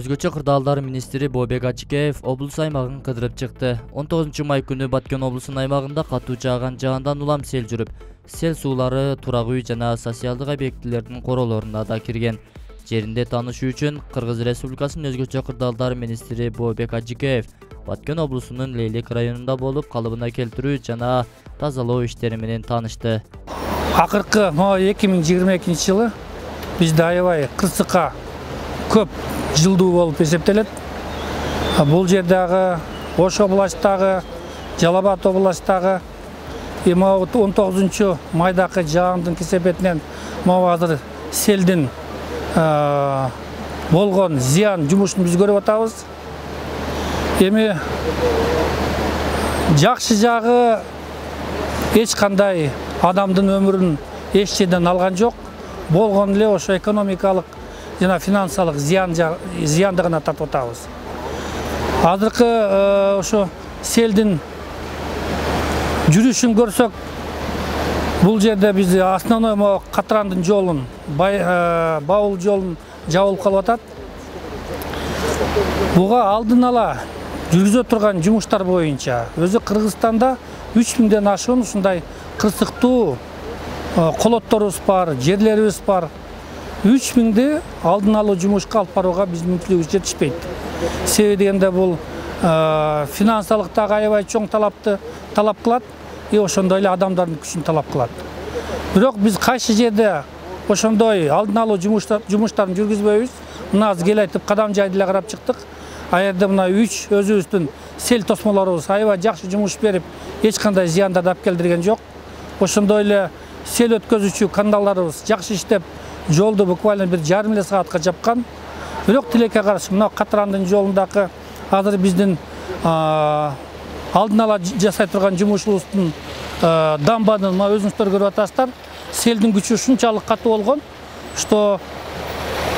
Өзгөчө кырдаалдар министри Бообек Ачыкеев облус аймагын кыдырып чыкты. 19 май күнү Баткен облусунун аймагында катуу жааган жаандан улам сел жүрүп, сел суулары турак үй жана социалдык объектилердин королоруна да кирген. Жеринде таанышуу үчүн Кыргыз Республикасынын өзгөчө кырдаалдар министри Бообек Ачыкеев Баткен облусунун Лейлек районунда болуп, калыбына келтирүү жана тазалоо иштери менен таанышты. Акыркы 2022-жылы бизде аябай кырсыкка көп жылдуу болуп эсептелет. Бул жердагы Ош областагы, Жалал Абад областагы 19 майдагы жаандын кесепетинен азыр селдин болгон зыян жумушун биз көрүп атабыз. Эми жакшы жагы эч кандай адамдын өмүрүн эч жерден алган жок. Болгон эле ошо экономикалык жана финансалык зыянды гана тартып атабыз. Азыркы ошо селдин жүрүшүн көрсөк, бул жерде биз основной катрандын жолун, баул жолун жабылып калып атат. Буга алдын ала жүргүзө турган жумуштар боюнча өзү Кыргызстанда 3000ден ашуун ушундай кырсыктуу колотторубуз бар, жерлерибиз бар. 3000ди алдын алуу жумушка алып барууга биздин мүмкүнчүлүгүбүз жетишпейт. Себеби дегенде бул финансалык дагы аябай чоң талап кылат, ошондой эле адамдардын күчүн талап кылат. Бирок биз кайсы жерде ошондой алдын алуу жумуштарын жүргүзбөйбүз. Мына азыр кел айтып кадам жайды эле карап чыктык. Аерде мына 3 өзүбүздүн сел тосмолорубуз аябай жакшы жумуш берип, эч кандай зыяндарды алып келдирген жок. Ошондой эле сел өткөзүүчү каналдарыбыз жакшы иштеп, жолду буквально бир жарым эле саатка жапкан. Бирок тилекке каршы мына Катрандын жолундагы азыр биздин алдын ала жасай турган жумушубуздун дамбанын өзүңүздөр көрүп атасыздар. Селдин күчү ушунчалык катуу болгон, что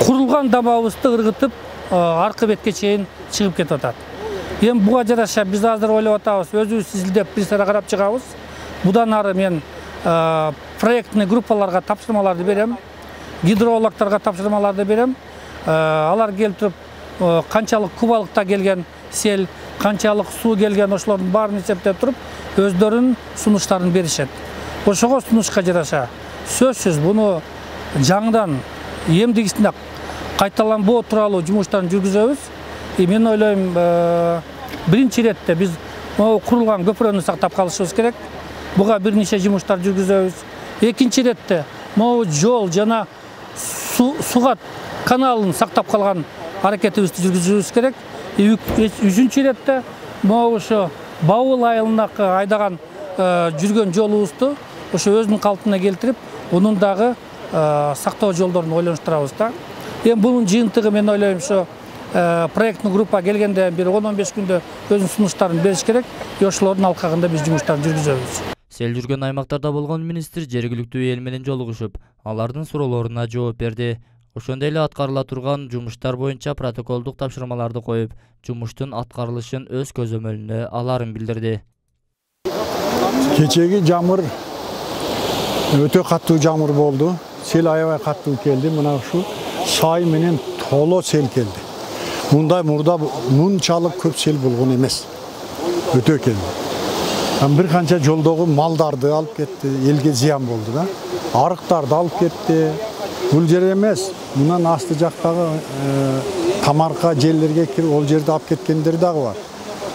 курулган дамбабызды ыргытып аркы бетке чейин чыгып кетип атат. Эми буга жараша биз азыр ойлоп атабыз, өзүбүз изилдеп бир сара карап чыгабыз. Будан ары мен проектный группаларга тапшырмаларды берем, гидрологторго тапшырмаларды берем. Алар келип туруп канчалык кубалыкта келген сел, канчалык суу келген, ошолордун баарын эсептеп туруп өздөрүнүн сунуштарын беришет. Ошого сунушка жараша сөзсүз буну жаңыдан эмдигисинде кайталанбоо тууралуу жумуштарын жүргүзөбүз. Мен ойлойм, биринчи иретте биз курулган көпүрөнү сактап калышыбыз керек. Буга бир нече жумуштар жүргүзөбүз. Экинчи иретте могу жол жана сугат каналын сактап калган аракетибизди жүргүзүбүз керек. Үчүнчү иретте могу ошо Баул айылына айдаган жүргөн жолубузду ошо өзүнүн калпына келтирип, унун дагы сактоо жолдорун ойлонуштурабыз да. Эми бунун жыйынтыгы мен ойлойм ошо проектный группа келгенде бир 10-15 күндө өзүнүн сунуштарын бериш керек. Ошолордун алкагында биз жумуштарды жүргүзөбүз. Сел жүргөн аймактарда болгон министр жергиликтүү эл менен жолугушуп, алардын суроолоруна жооп берди. Ошондой эле аткарыла турган жумуштар боюнча протоколдук тапшырмаларды коюп, жумуштун аткарылышын өз көзөмөлүнө аларын билдирди. Кечеги жамыр өтө катуу жамыр болду. Сел аябай катуу келди. Мына ушу сай менен толо сел келди. Мындай мурда мынчалык көп сел болгон эмес. Өтө келди. Бир канча жолдогу малдарды алып кетти, элге зыян болду да. Арыктарды алып кетти. Бул жер эмес, мындан асты жактагы тамарка жерлерге кирип, ол жерди алып кеткендер дагы бар.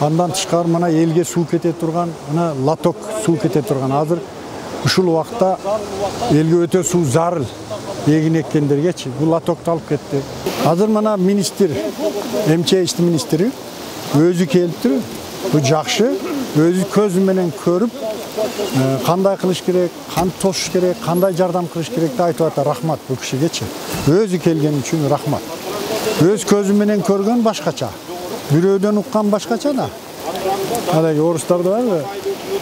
Андан тышкары мына элге суу кете турган, мына лоток суу кете турган. Азыр ушул убакта элге өтө суу зарыл. Эгин эккендергечи бул лотокту алып кетти. Азыр мына министр, МЧС министри өзү келиптир. Бул жакшы. Өзү көзү менен көрүп, кандай кылыш керек, кантип тосуш керек, кандай жардам кылыш керек деп айтып атат. Рахмат бул кишигечи. Өзү келген үчүн рахмат. Өз көзү менен көргөн башкача. Бирөөдөн уккан башкача да. Алай орустарда бар.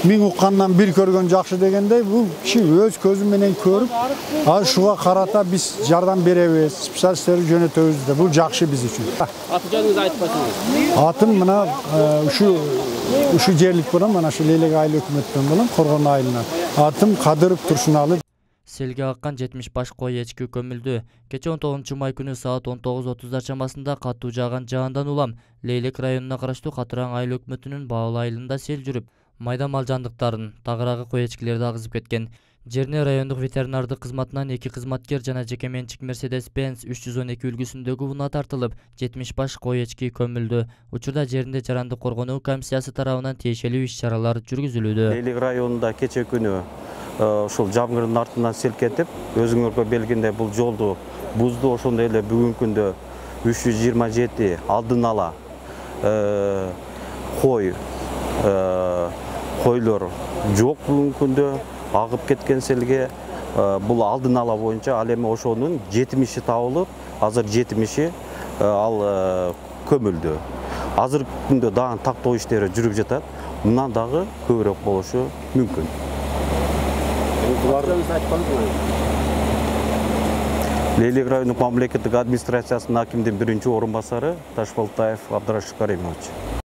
Миң уккандан бир көргөн жакшы дегендей, бул киши өз көзү менен көрүп, шуга карата биз жардам беребиз, специалисттерди жөнөтөбүз деп. Бул жакшы биз үчүн. Аты жөнүңүздү айтып койсоңуз. Атым мына ушу жерлик болом, мына шу Лейлек айыл өкмөттөн болом, Коргон айылынан. Атым Кадыров Турсуналы. Селге аккан 70 баш кой эчки көмүлдү. Кече 19 май күнү саат 19:30 чамасында катуу жааган жаандан улам Лейлек районуна караштуу Катыраң айыл өкмөтүнүн Баалы айылында сел жүрүп, майда мал жандыктарын, тагыраагы кой эчкилерди агызып кеткен. Жерне райондук ветеринардык кызматынан 2 кызматкер жана жеке менчик Mercedes-Benz 312 үлгүсүндөгү унаа тартылып, 70 баш кой эчки көмүлдү. Учурда жеринде жарандык коргонуу комиссиясы тарабынан тиешелүү иш-чаралар жүргүзүлүүдө. Лейлек районунда кече күнү ушул жамгырдын артынан сел кетип, өзүңөргө белгиндей бул жолду бузду. Ошондой эле бүгүнкү күндө 327 алдын ала койлор жок. Бүгүнкү күндө агып кеткен селге бул алдын ала боюнча ал эми ошонун 70 табылып, азыр 70 ал көмүлдү. Азыркы күндө дагы тактоо иштери жүрүп жатат. Мындан дагы көбүрөөк болушу мүмкүн. Лейлек райондук мамлекеттик администрациясынын акимдин 1-орун басары Ташбалтаев Абдрашид Каримович.